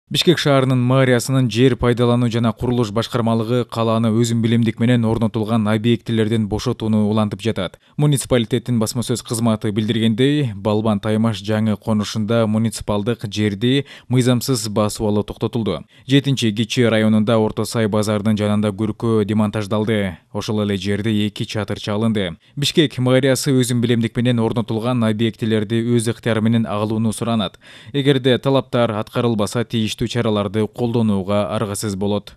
Бишкек шаарынын мэриясынын жер пайдалануу жана курулуш башкармалыгы калааны өзүн билемдик менен орнотулган объектилерден бошотууну улантып жатат. Муниципалитеттин басма сөз кызматы билдиргендей, Балбан Таймаш жаңы конушунда муниципалдык жерди мыйзамсыз басып алуу токтотулду. 7-Кичи районунда Орто Сай базарынын жанында көркөө демонтаждалды. Ошол эле жерде 2 чатырча алынды. Бишкек мэриясы өзүн билемдик менен орнотулган объектилерди өз ыктыяры менен алууну суранат. Эгерде талаптар аткарылбаса, тийиштүү чараларды колдонууга аргасыз болот.